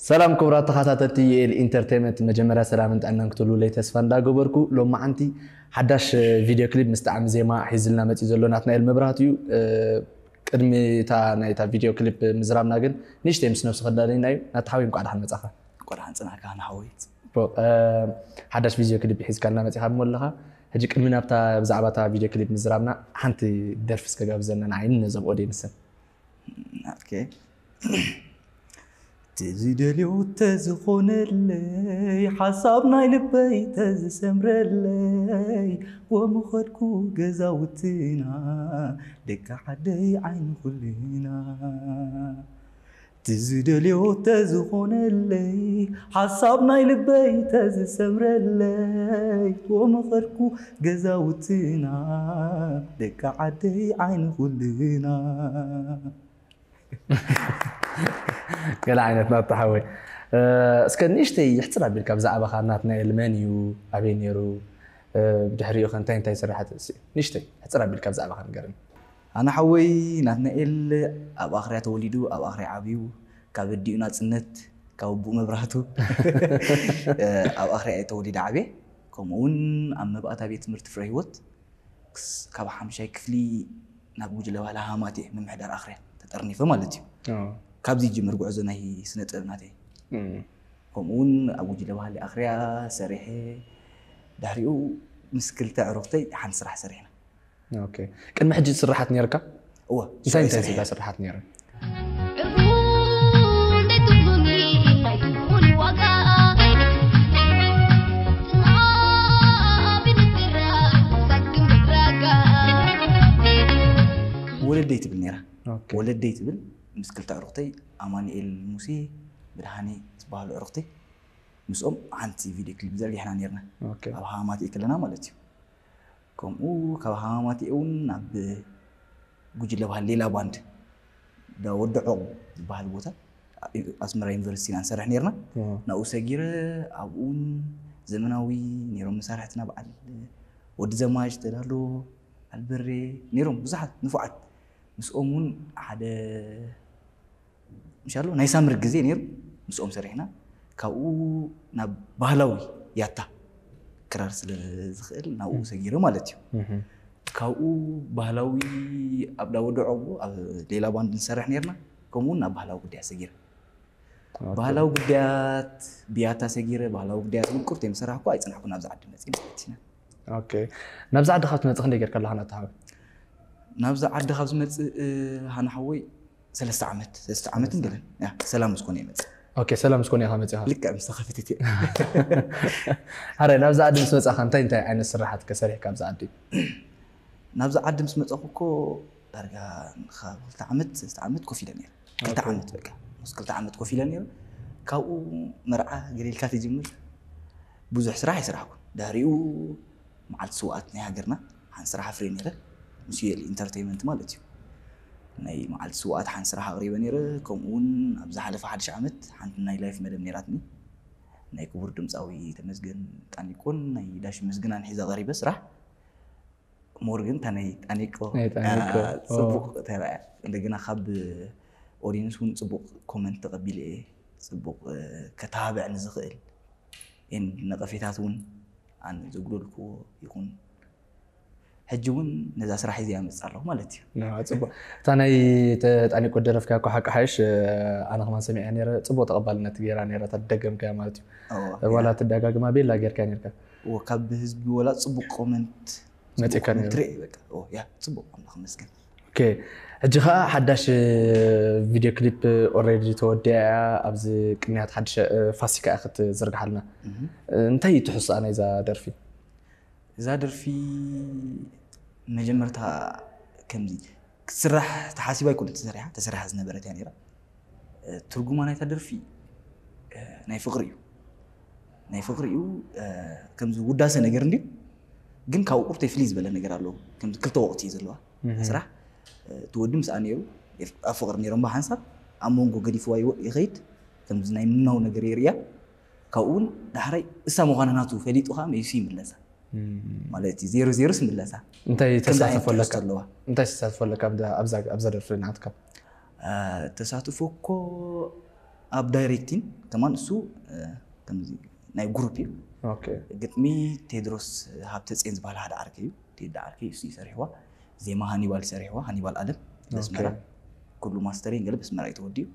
ሰላም ክቡራት ተኸታተልቲ ዩኤል ኢንተርቴንመንት፣ መጀመርያ ሰላምን ጥዕናን ክትህሉለይ ተስፋ እንዳገበርኩ፣ ሎማዓንቲ ሓዳሽ ቪድዮ ክሊፕ ምስ ጣዕሚ ዜማ ሒዝልና መፂኡ ዘሎ ናትናኤል መብራህቱ እዩ። ቅድሚ እታ ናይታ ቪድዮ ክሊፕ ምዝራብና ግን ንእሽተይ ምስ ነብሱ ከዳለና እዩ። ናቲ ሓወይ እንኳዕ ደሓን መፃኻ። እንኳዕ ደሓን ፀናሕካ ንሓወይ። ሓዳሽ ቪድዮ ክሊፕ ሒዝካልና መፂኻ እሞ ኣለኻ። ሕጂ ቅድሚ ናብታ ብዛዕባ እታ ቪድዮ ክሊፕ ምዝራብና ሓንቲ ደርፊ እስከ ጋብዘና ንዓይን ነዞም ኦዲየንስን። ኦኬ። ትዝደልዮ ተዝኾነለይ ሓሳብ ናይ ልበይ ተዝሰምረለይ ወምኸድኩ ገዛውትና ደቂ ዓደይ ዓይኒ ኩልና ትዝደልዮ ተዝኾነለይ ሓሳብ ናይ ልበይ ተዝሰምረለይ ወምኸድኩ ገዛውትና ደቂ ዓደይ ዓይኒ ኩልና ገለ ዓይነት ናታ ሓወይ። እስከ ንእሽተይ ሕፅር ኣቢልካ ብዛዕባኻ ናትናኤል መን እዩ? ኣበይ ነይሩ? ብድሕሪኡ ከ እንታይ እንታይ ስራሓት? ንእሽተይ ሕፅር ኣቢልካ ብዛዕባኻ ንገርኒ። ኣነ ሓወይ ናትናኤል ኣብ ኣኽርያ ተወሊዱ ኣብ ኣኽርያ ዓብዩ ካብ ኣዲኡ ናፅነት ካብ ኣቡኡ መብራህቱ ኣብ ኣኽርያ እየ ተወሊደ ዓብየ። ከምኡ እውን ኣብ መባእታ ቤት ትምህርቲ ፍረ ህይወት ካብ ሓምሻይ ክፍሊ ናብ ጉጅለ ባህሊ ሃማት እየ ምምሕዳር ኣኽርያ ተጠርኒፈ ማለት እዩ። ካብዚ ይጅምር ጉዕዞ ናይ ስነ ጥበብ ናተይ። ከምኡ እውን ኣብ ጉጅለ ባህሊ ኣኽርያ ሰሪሐ ድሕሪኡ ምስ ክልተ ዕሩኽተይ ሓንቲ ስራሕ ሰሪሕና። ቅድሚ ሕጂ ስራሓት ነርካ? እወ እንታይ እንታይ ስራሓት ነይረ? ወለደይ ትብል ነራ። ወለደይ ትብል ምስ ክልተ ዕሩኽተይ ኣማኑኤል ሙሴ ብርሃኔ ዝበሃሉ ዕሩኽተይ ምስኦም ሓንቲ ቪድዮ ክሊፕ ዘርጊሕና ነርና። ኣብ ሃማት ከለና ማለት እዩ። ከምኡ ካብ ሃማት እውን ናብ ጉጅለ ባህል ሌላ ባንድ ወዲ ዑቕ ዝበሃል ቦታ ኣስመራ ዩኒቨርሲቲ ኢና ንሰርሕ ነርና። ናብኡ ሰጊረ ኣብኡን ዘመናዊ ነይሮም መሳርሕትና በዓል ወዲ ዘማች ተዳሎ ኣልበሬ ነይሮም ብዙሓት ንፉዓት ምስኦም እውን ሓደ ምሻሉ ናይ ሳምር ግዜ ነይሩ ምስኦም ሰሪሕና ካብኡ ናብ ባህላዊ ያታ ክራር ስለ ዝኽእል ናብኡ ሰጊረ ማለት እዩ። ካብኡ ባህላዊ ኣብ ዳወዶ ዑቕቡ ኣብ ሌላ ባንድ ንሰርሕ ነርና። ከምኡ እውን ናብ ባህላዊ ጉዳያት ሰጊረ ባህላዊ ጉዳያት ብያታ ሰጊረ ባህላዊ ጉዳያት ምቁርት የምሰራሕኩ ኣይፅናሕኩ ናብዚ ዓዲ መፅእ ማለት ኢና። ናብዚ ዓዲ ካብ ትመፅእ ክንደይ ጌርካ ኣለካ ናታ ሓወይ? ናብዚ ዓዲ ካብ ዝመፅእ ሃና ሓወይ ሰለስተ ዓመት ሰለስተ ዓመት እንገለን ሰላም ምስኮነ ይመፅእ። ሰላም ምስኮነ ኢኻ መፅኻ? ልክዕ ምስ ተኸፈተት እየ። ሓረ ናብዚ ዓዲ ምስ መፃኻ እንታይ እንታይ ዓይነት ስራሓት ከሰሪሕካ ኣብዚ ዓዲ? ናብዚ ዓዲ ምስ መፀኹ እኮ ዳርጋ ክልተ ዓመት ሰለስተ ዓመት ኮፍ ኢለ ነይረ። ክልተ ዓመት በቃ ምስ ክልተ ዓመት ኮፍ ኢለ ነይረ። ካብኡ መርዓ ገለ ኢልካ ትጅምር ብዙሕ ስራሕ ኣይሰራሕኩን። ድሕሪኡ መዓልቲ ስውኣት ናይ ሃገርና ሓንቲ ስራሕ ኣፍርየ ነይረ ምስ ዩኤል ኢንተርቴይመንት ማለት እዩ። ናይ መዓልቲ ስውኣት ሓንቲ ስራሕ ኣቕሪበ ነይረ። ከምኡ እውን ኣብ ዝሓለፈ ሓድሽ ዓመት ሓንቲ ናይ ላይፍ መደብ ነይራትኒ ናይ ክቡር ድምፃዊ ተመስገን ጣኒቆን ናይ ዳሽ መስግናን ሒዘ ቀሪበ ስራሕ ሞር ግን እታ ናይ ጣኒቆ ፅቡቅ ተረኣያ እንደገና ካብ ኦዲንስ እውን ፅቡቅ ኮመንት ተቀቢለ እየ ፅቡቅ ከተባብዕ ንዝኽእል ነቀፌታት እውን ኣነ ዘጉደልክዎ ይኹን ሕጂ እውን ነዛ ስራሕ እዚ ኣመፅእ ኣለኹ ማለት እዩ። ፅቡቅ እታ ናይ ጣኒቆ ደረፍካ እኮ ሓቂ ሓይሽ ኣነ ከማን ሰሚዐ ነረ ፅቡቅ ተቀባልነት ገይራ ነራ እታ ደገምካያ ማለት እዩ። ዋላ ትደጋግማ ቤላ ጌርካ ነርካ። ካብ ህዝቢ ወላ ፅቡቅ ኮመንት መፂእካ ነይሩ። ትርኢ በቃ ኦ ያ ፅቡቅ ኣምላኽ ይመስገን። ኦኬ ሕጂ ከዓ ሓዳሽ ቪድዮ ክሊፕ ኦሬዲ ተወዲኣ እያ። ኣብዚ ቅንያት ሓድሽ ፋሲካ እያ ክትዝርግሓልና። እንታይ እዩ ትሕስኣ ናይዛ ደርፊ? እዛ ደርፊ መጀመርታ ከምዚ ክትስራሕ ተሓሲባ ኣይኮነ ተሰሪሓ ተሰሪሓ ዝነበረት እያ ነራ። ትርጉማ ናይታ ደርፊ ናይ ፍቅሪ እዩ ናይ ፍቅሪ እዩ። ከምዚ ውዳሰ ነገር እንዲ ግን ካብ ቁርተይ ፍልይ ዝበለ ነገር ኣለዎ። ከምዚ ክልተ ወቅቲ እዩ ዘለዋ ስራሕ እቲ ወዲ ምስኣ ነይሩ ኣብ ፍቅሪ ነይሮም ብሓንሳብ ኣብ መንጎ ገዲፍዋ ይኸይድ ከምዚ ናይ ምናው ነገር የርእያ። ካብኡ እውን ዳሕራይ እሳ ምዃና ናቱ ፈሊጡ ከዓ መይሱ ይምለሳ። ማለት እዩ ዜሮ ዜሮ ስምለሳ እንታይ ተሳተፎ ኣለካ? እንታይ ተሳተፎ ኣለካ ኣብዛ ደርፊ ናትካ? ተሳትፎ እኮ ኣብ ዳይሬክቲንግ ከማን እሱ ከምዚ ናይ ግሩፕ እዩ። ኦኬ ግጥሚ ቴድሮስ ሃብተፅዮን ዝበሃል ሓደ ዓርከይ እዩ። ቴዲ ዓርከይ እሱ ይሰርሕዋ። ዜማ ሃኒባል ይሰርሕዋ፣ ሃኒባል ኣለም በስመራ። ኩሉ ማስተሪንግ ገለ በስመራ እዩ ተወዲኡ።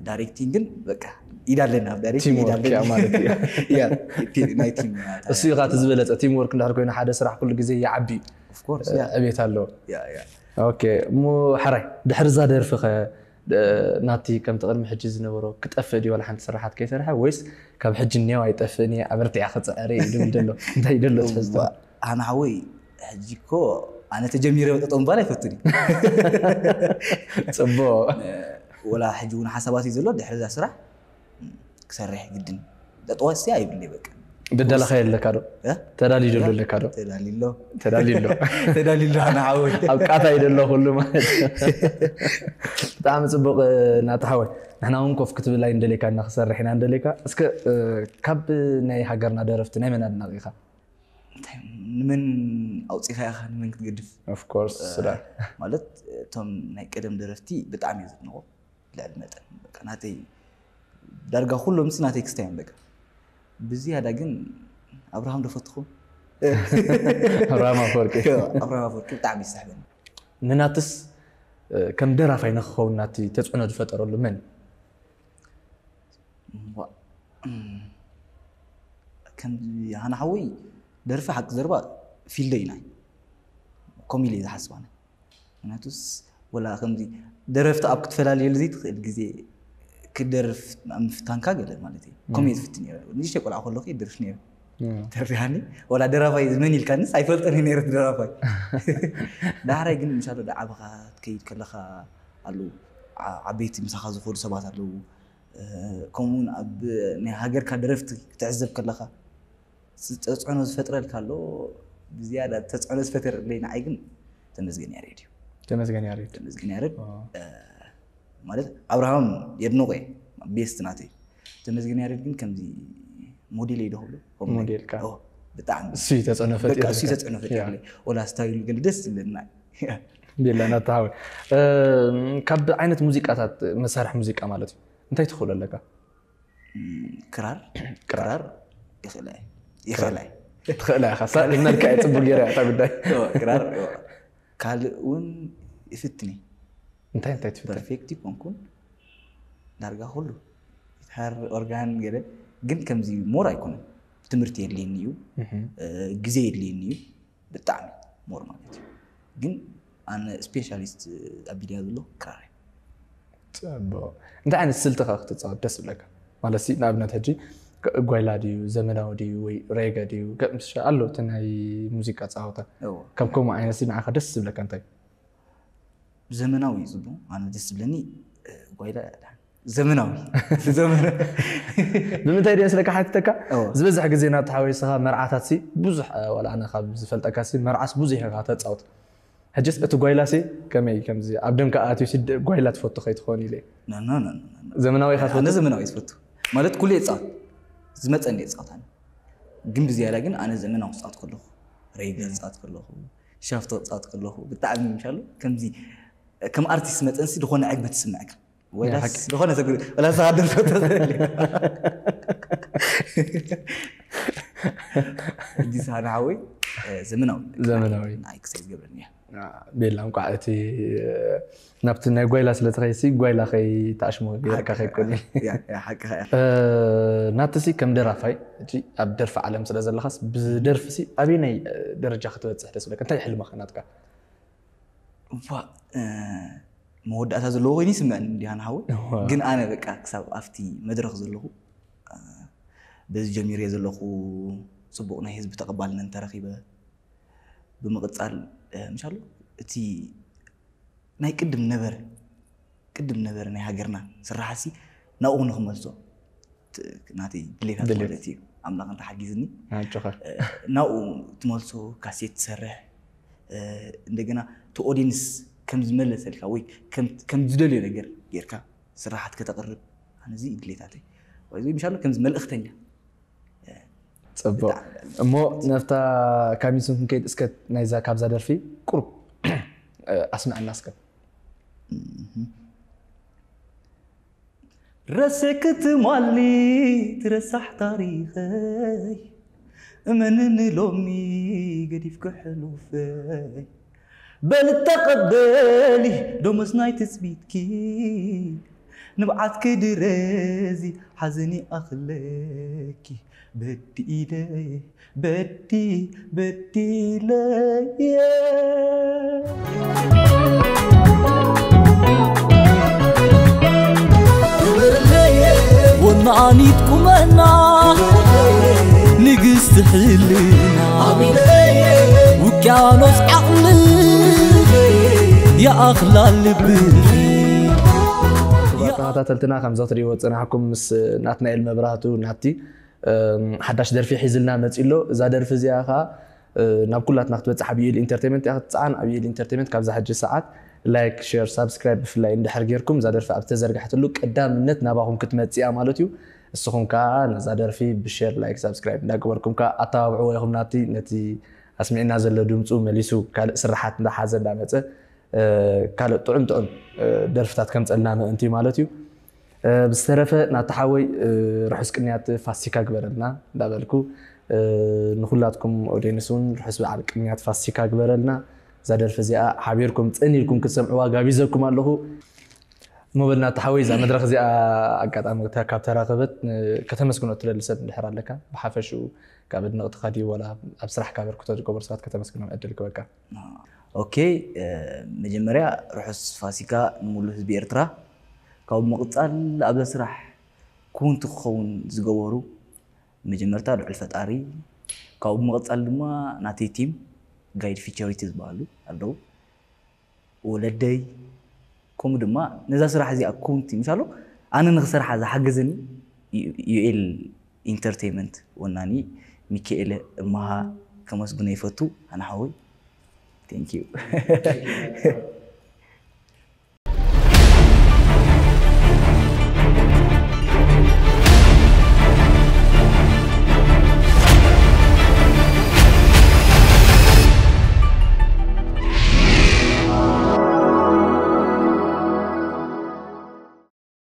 ዳይሬክቲንግ ግን በቃ ኢዳለን ኣብ ዳይሬክቲንግ ቲም ወርክ ኢዳለን ማለት እዩ። ያ፣ ቲ- ናይ ቲም እሱ ኢኻ እቲ ዝበለፀ። ቲም ወርክ እንድሕር ኮይኑ ሓደ ስራሕ ኩሉ ግዜ ይዓቢ እዩ። ኦፍኮርስ ዕቤት ኣለዎ። ያ ያ ኦኬ እሞ ሕራይ ድሕሪ እዛ ደርፊ ኸ ናቲ ከምቲ ቅድሚ ሕጂ ዝነበሮ ክጠፍእ ድዩ ዋላ ሓንቲ ስራሓት ከይሰርሐ ወይስ ካብ ሕጂ እኒኦ ኣይጠፍእን እየ ኣበርቲዐ ክፅዕር እየ ይብል ዘሎ እንታይ ይደሎ ትሕዝቶ ኣነ ሓወይ ሕጂ እኮ ኣነ ተጀሚረ ጠጠው ምባል ኣይፈቱን እዩ ፅቡቅ ወላ ሕጂ እውን ሓሳባት እዩ ዘሎ ድሕሪ እዛ ስራሕ ክሰርሕ ግድን ጠጠዋሲ ኣይብለይ በቃ ደዳለኻ የለካ ዶ እ? ተዳልዩ ዘሎ ኣለካ ዶ ተዳሊሎ ተዳልዩ ኣሎ ተዳሊሎ ኣነ ሓወይ ኣብ ቃታ ይደሎ ኩሉ ማለት ብጣዕሚ ፅቡቅ ናቲ ሓወይ ንሕና እውን ኮፍ ክትብል ኣይንደሌካ እና ክሰርሕ ኢና ንደሌካ እስከ ካብ ናይ ሃገርና ደረፍቲ ናይ መን ኣድናቂ ኢኻ ንመን ኣውፂኻ ኢኻ ንመን ክትገድፍ ኦፍኮርስ ስለ ማለት እቶም ናይ ቀደም ደረፍቲ ብጣዕሚ እየ ዘድንቆ ልዕሊ መጠን በቃ ናተይ ዳርጋ ኩሎም ስ ናተይ ክስታይ እዮም በቃ ብዝያዳ ግን ኣብርሃም ዶ ፈትኹ ኣብርሃም ኣፈወርቂ ኣብርሃም ኣፈወርቂ ብጣዕሚ ይስሕበኒ ንናትስ ከም ደራፋይ ንክኸውን ናቲ ተፅዕኖ ዝፈጠረሉ መን እምቧ፣ እም፣ ከም ሃና ሓወይ ደርፊ ሓቂ ዘረባ ፊልደይ ናይ ኮሚል እየ ዝሓስብ ኣነ ምክንያቱስ ወላ ከምዚ ደረፍቲ ኣብ ክትፈላልየሉ ዘይትኽእል ግዜ ክደርፍ ኣብ ምፍታንካ ገለ ማለት እዩ ኮሜ ዝፍትን ነረ ንሽተ ቆልዓ ከለኹ ይደርፍ ነረ ተሪሃኒ ወላ ደራፋይ መን ኢልካንስ ኣይፈልጠን ነረ ደራፋይ ዳሕራይ ግን ምሻሎ ዳዓበኻ ትከይድ ከለኻ ኣለዉ ዓበይቲ ምሳኻ ዝኾኑ ሰባት ኣለዉ ከምኡውን ኣብ ናይ ሃገርካ ደረፍቲ ክትዕዘብ ከለኻ ተፅዕኖ ዝፈጥረልካ ኣሎ ብዝያዳ ተፅዕኖ ዝፈጠረለይ ንዓይ ግን ተመስገን ያሬድ እዩ ተመስገን ያሬድ ተመስገን ያሬድ ማለት ኣብርሃም የድንቆ ቤስት ናተይ ተመስገን ያሬድ ግን ከምዚ ሞዴል ይደክብሉ ሞዴልካ ብጣዕሚ እሱ ተፅዕኖ በቃ ፈጢሩ እሱ ተፅዕኖ ፈጢሩ ወላ ስታይሉ ግን ደስ ዝብለና ቤላ ናተሃወ ካብ ዓይነት ሙዚቃታት መሳርሒ ሙዚቃ ማለት እዩ እንታይ ትኽእሉ ኣለካ ክራር ክራር ይኽእላ ይኽእላ ትኽእላ ኢኻ ሳቅ ኢልናልካ እየ ፅቡቅ ገይረ እታ ጉዳይ ክራር ካልእ እውን ይፍትኒ እንታይ እንታይ ትፍትን ፐርፌክት ይኮንኩን ዳርጋ ኩሉ ጊታር ኦርጋን ገለ ግን ከምዚ ሞር ኣይኮነን ትምህርቲ የድልየኒ እዩ ግዜ የድልየኒ እዩ ብጣዕሚ ሞር ማለት እዩ ግን ኣነ ስፔሻሊስት ኣቢልያ ዘሎ ክራር ፅቡቅ እንታይ ዓይነት ስልቲ ከ ክትፃወት ደስ ዝብለካ ማለት ሲ ንኣብነት ሕጂ ጓይላ ድዩ ዘመናዊ ድዩ ወይ ሬገ ድዩ ኣሎ እቲ ናይ ሙዚቃ ፀወታ ከም ከምኡ ዓይነት ንዓኻ ደስ ዝብለካ እንታይ ዘመናዊ እዩ ዝብሎ ኣነ ደስ ዝብለኒ ጓይላ ዘመናዊ ብምንታይ ድየ ስለካ ሓትተካ ዝበዝሕ ግዜ ናብቲ ሓወይስኻ መርዓታት ሲ ብዙሕ ዋላ ኣነ ካብ ዝፈልጠካ ሲ መርዓስ ብዙሕ ኢኻ ተፃወት ሕጅስ እቲ ጓይላ ሲ ከመይ ከምዚ ኣብ ደምካ ኣትዩ ሲ ጓይላ ትፈቱ ከይትኸውን ኢለ ዘመናዊ ኢኻ ትፈቱ ዘመናዊ ትፈቱ ማለት ኩሉ የፃወት ዝመፀኒ የፃወት ኣነ ግን ብዝያዳ ግን ኣነ ዘመናዊ ክፃወት ከለኹ ሬገ ክፃወት ከለኹ ሻፍቶ ክፃወት ከለኹ ብጣዕሚ ምሻሉ ከምዚ ከም ኣርቲስት መጠንሲ ዝኾነ ዕግበት ትስምዐካ ወላስ ዝኾነ ተግሪ ወላ ዝሃደር ፈቶ ሕጂ ሳና ሓወይ ዘመናዊ ዘመናዊ ንኣይ ክሳይ ዝገብረኒ እያ ቤላ እንቋዕ እቲ ናብቲ ናይ ጓይላ ስለ ትኸይሲ ጓይላ ከይተኣሽሞ ገይርካ ከይኮን ሓቅኻ እያ ናትሲ ከም ደራፋይ ሕጂ ኣብ ደርፊ ዓለም ስለ ዘለኻስ ብደርፊሲ ኣበየናይ ደረጃ ክትበፅሕ ደስ ብለካ እንታይ ሕልምኻ ናትካ እዋ መወዳእታ ዘለዎ ኮይኑ ይስምዐኒ እንዲሃን ሓወይ ግን ኣነ በቃ ክሳብ ኣብቲ መድረክ ዘለኹ በዚ ጀሚረ ዘለኹ ፅቡቅ ናይ ህዝቢ ተቐባልነት እንተረኪበ ብምቕፃል ምሻሉ እቲ ናይ ቅድም ነበረ ቅድም ነበረ ናይ ሃገርና ስራሓሲ ናብኡ ንክመልሶ ናተይ ድሌታት ማለት እዩ ኣምላኽ እንተሓጊዝኒ ናብኡ ትመልሶ ካሴት ትሰርሕ እንደገና እቲ ኦዲንስ ከም ዝመለሰልካ ወይ ከም ዝደልዮ ነገር ጌርካ ስራሓት ከተቕርብ ኣነዚ ድሌታተይ ወይ ምሻሎ ከምዚ መልእኽተኛ ፅቡቅ እሞ ነፍታ ካሚሱን ክንከይድ እስከ ናይዛ ካብዛ ደርፊ ቁሩብ ኣስምዐና እስከ ረስዕኪ ትማሊ ትረሳሕ ታሪኸይ፣ እመንኒ ሎሚ ገዲፍኪ ሕሉፈይ። በል ተቐበሊ ደሞዝ ናይ ትጽቢትኪ፣ ንብዓትኪ ድረዚ ሓዘኒ ኣኽለኪ። በዲለ በዲ በዲለየ። ወናኒት ቁመና ንግስቲ ሕልና፣ ውቅያኖስ ዓቕሊ ይኣኽላ ልብኺ። ክቡራት ተኸታተልትና፣ ከም ዘትሪእዎ ዝጸናሕኩም ምስ ናትናኤል መብራህቱ ናቲ፣ እም፣ ሓዳሽ ደርፊ ሒዝልና መጺኡ ኣሎ። እዛ ደርፊ እዚኣ ኸኣ፣ እ፣ ናብ ኩላትና ክትበጽሕ ኣብ ዩኤል ኢንተርቴይመንት እያ ክትጸዓን። ኣብ ዩኤል ኢንተርቴይመንት ካብዛ ሕጂ ሰዓት ላይክ፣ ሼር፣ ሳብስክራይብ ብፍላይ እንድሕር ጌርኩም፣ እዛ ደርፊ ኣብ ዝተዘርግሐትሉ ቀዳምነት ናባኹም ክትመጽእ እያ ማለት እዩ። እስኹም ከኣ ነዛ ደርፊ ብሼር፣ ላይክ፣ ሳብስክራይብ እንዳገበርኩም ከኣ ኣተባብዕዎ ኢኹም። ናቲ ነቲ ኣስሚዕና ዘሎ ድምጹ መሊሱ ካልእ ስራሓት እንዳሓዘ እንዳመጸ፣ እ፣ ካልእ ጥዑም ጥዑም፣ እ፣ ደርፍታት ከምጸልና ምእንቲ ማለት እዩ። እ፣ ብዝተረፈ ናቲ ሓወይ፣ እ፣ ርሑስ ቅንያት ፋሲካ ግበረልና እንዳበልኩ፣ እ፣ ንኹላትኩም ኦድየንስ እውን ርሑስ በዓል ቅንያት ፋሲካ ግበረልና። እዛ ደርፊ እዚኣ ሓቢርኩም ጽን ኢልኩም ክትሰምዕዋ ጋቢዘኩም ኣለኹ። እሞ በል ናቲ ሓወይ፣ እዛ መድረኽ እዚኣ ኣጋጣሚ ተ-፣ ካብ ተራኸበት፣ ን-፣ ከተመስግኖ እትደሊ ሰብ እንድሕር ኣለካ፣ ብሓፈሽኡ ካብ ኣድነቕትኻ ድዩ ዋላ ኣብ ስራሕካ ኣበርክቶ ዝገበሩ ሰባት ከተመስግኖም ዕድል ክበካ? ኦኬ፣ እ፣ መጀመርያ ርሑስ ፋሲካ ንሙሉ ህዝቢ ኤርትራ። ካብኡ ብምቕጻል ኣብዛ ስራሕ ክውንቲ ክኸውን ዝገበሩ መጀመርታ ልዑል ፈጣሪ፣ ካብኡ ብምቕጻል ድማ ናተይ ቲም ጋይድ ፊቸሪቲ ዝበሃሉ ኣለዉ፣ ወለደይ፣ ከምኡ ድማ ነዛ ስራሕ እዚኣ ክውንቲ፣ ምሻሎ ኣነ ንኽሰርሓ ዝሓገዘኒ ዩ-፣ ዩኤል ኢንተርቴይመንት ወናኒ ሚካኤል እመሃ ከመስግኖ ይፈቱ። ኣነ ሓወይ፣ ቴንክ ዩ።